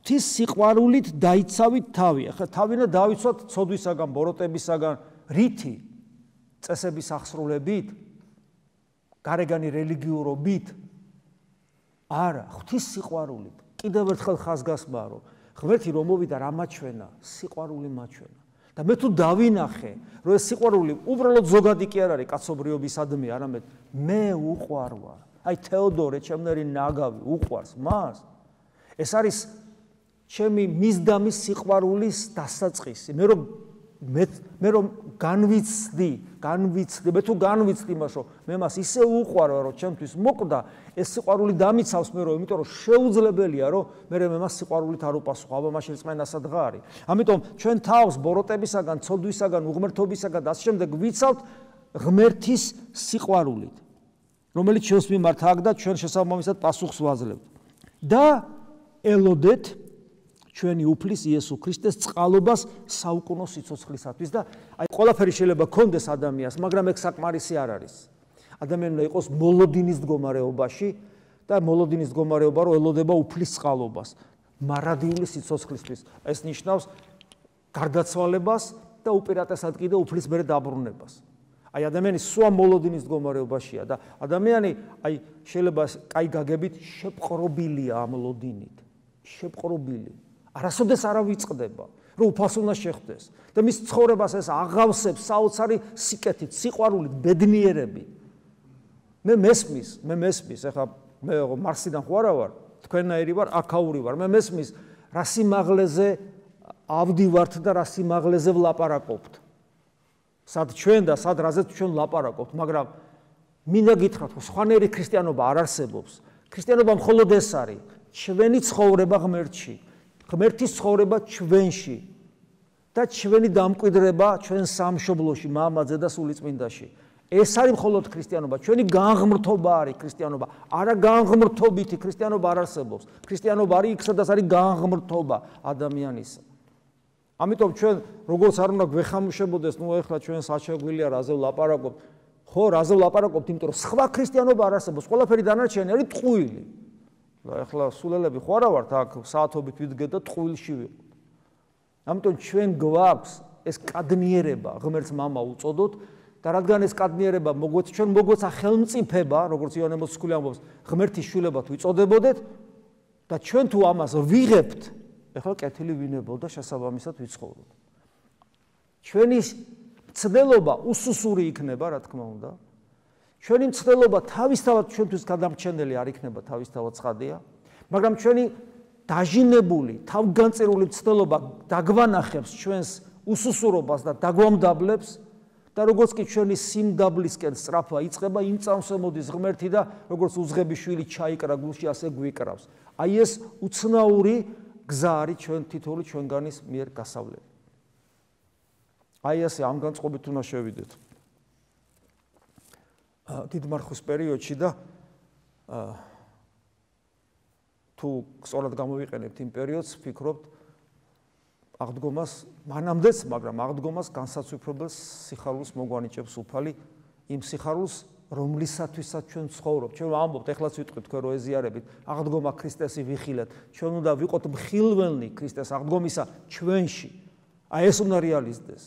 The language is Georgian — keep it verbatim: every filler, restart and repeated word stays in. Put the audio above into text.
ღვთის სიყვარულით დაიცავით თავი. ახლა თავინა დავიცვათ ცოდვისაგან, ბოროტებისაგან, რითი? წესების აღსრულებით, გარეგანი რელიგიურობით? არა, ღვთის სიყვარულით. კიდევ ერთხელ ხაზგასმაა, რომ ღმერთი რომ მოვიდა რა მაჩვენა, სიყვარული მაჩვენა. და მე თუ დავინახე, რომ ეს სიყვარული უბრალოდ ზოგადი კი არ არის კაცობრიობისადმი, არამედ მე უყვარ ვარ. აი თეოდორე, ჩემნერი ნაგავი უყვარს მას. ეს არის ჩემი მისდამის სიყვარულის დასაწყისი. მე რომ მე მე რომ განვიცდი, განვიცდი, მე თუ განვიცდი მას, რომ მე მას ისე უყვარ, რომ ჩემთვის მოკვდა, ეს სიყვარული დამიცავს მე რომ, იმიტომ რომ შეუძლებელია, რომ მე მე მას სიყვარულით არ უპასუხო, აბა მაშინ წმენასა დღა არის. ამიტომ ჩვენ თავს ბოროტებისაგან, ცოდვისაგან, უღმრთობისაგან და ასე შემდეგ ვიცავთ ღმერთის სიყვარულით, რომელიც ჩვენს მიმართ აქვს და ჩვენ შესაბამისად პასუხს ვაძლევთ. და ელოდეთ ჩვენი უფლის იესო ქრისტეს წყალობას საუკუნო სიცოცხლისათვის და აი ყველაფერი შეიძლება გქონდეს ადამიანს, მაგრამ ეგ საკმარისი არ არის. ადამიანი უნდა იყოს მოლოდინის მდგომარეობაში და მოლოდინის მდგომარეობა რომ ელოდება უფლის წყალობას, მარადიული სიცოცხლისთვის. ეს ნიშნავს გარდაცვალებას და უპირატესად კიდე უფლის მერე დაბრუნებას. აი ადამიანი სვა მოლოდინის მდგომარეობაშია და ადამიანი აი შეიძლება კაი გაგებით შეპყრობილია ამ ლოდინით. შეპყრობილი. არასოდეს არ ავიწყდება, რომ უფალს უნდა შეხვდეს და მის ცხოვრებას ეს აღავსებს საოცარი სიკეთით, სიყვარულით, ბედნიერებით. მე მესმის, მე მესმის, ეხლა მე მარსიდან ხო არა ვარ, თქვენნაირი ვარ, აქაური ვარ. მე მესმის, რა სიმაღლეზე ავდივართ და რა სიმაღლეზე ვლაპარაკობთ. სად ჩვენ და სად რაზეც ჩვენ ვლაპარაკობთ, მაგრამ მინდა გითხრათ, რომ სხვანაირი ქრისტიანობა არ არსებობს. ქრისტიანობა მხოლოდ ეს არის, ჩვენი ცხოვრება ღმერთში. ღმერთის ცხოვრება ჩვენში და ჩვენი დამკვიდრება ჩვენ სამშობლოში, მამაძე და სულიწმინდაში. ეს არის მხოლოდ ქრისტიანობა, ჩვენი განღმრთობა არის ქრისტიანობა. არა განღმრთობითი ქრისტიანობა არ არსებობს. ქრისტიანობა არის იქ, სადაც არის განღმრთობა ადამიანისა. ამიტომ ჩვენ როგორც არ უნდა გვეხამუშებოდეს, ნუ ეხლა ჩვენ საჩაგვილია რაზე ვლაპარაკობთ. ხო, რაზე ვლაპარაკობთ, იმიტომ რომ სხვა ქრისტიანობა არ არსებობს. ყველაფერი დანარჩენი არის ტყუილი. და ეხლა სულელები ხო არა ვართ აქ საათობით ვიდგეთ და ტყუილში ვიყოთ. ამიტომ ჩვენ გვაქვს ეს კადნიერება, ღმერთს მამა უწოდოთ და რადგან ეს კადნიერება მოგვეც ჩვენ მოგვეცა ხელმწიფება, როგორც იონე მოციქული ამბობს, ღმერთის შვილებად ვიწოდებოდეთ და ჩვენ თუ ამას ვიღებთ, ეხლა კეთილი ვინებო და შესაბამისად ვიცხოვროთ. ჩვენი ცდელობა უსუსური იქნება, რა თქმა უნდა. ჩვენი მცდელობა თავისთავად ჩვენთვის გადამრჩენელი არ იქნება თავისთავად ცხადია, მაგრამ ჩვენი დაჟინებული, თავგანწირული მცდელობა დაგვანახებს ჩვენს უსუსურობას და დაგვამდაბლებს და როგორც კი ჩვენი სიმდაბლისკენ სწრაფვა იწყება, იმ წამსვე მოდის ღმერთი და როგორც უძღები შვილი ჩაიკრა გულში, ასე გვიკრავს. აი ეს უცნაური გზა არის ჩვენ თითოეული ჩვენგანის მიერ გასავლელი. აი ასე ამ განწყობით უნდა შევიდეთ. დიდმარხვის პერიოდში და თუ სწორად გამოვიყენებთ იმ პერიოდს, ვფიქრობთ აღდგომას, მანამდეც, მაგრამ აღდგომას განსაცვიფრებელ სიხარულს მოგვანიჭებს უფალი, იმ სიხარულს, რომლისათვისაც ჩვენ ცხოვრობთ. ჩვენ ამბობთ, ეხლაც ვიტყვით თქვენ რო ეზიარებით, აღდგომა ქრისტესი ვიხილეთ. ჩვენ უნდა ვიყოთ მხილველნი ქრისტეს აღდგომისა ჩვენში. აი ეს უნდა რეალიზდეს.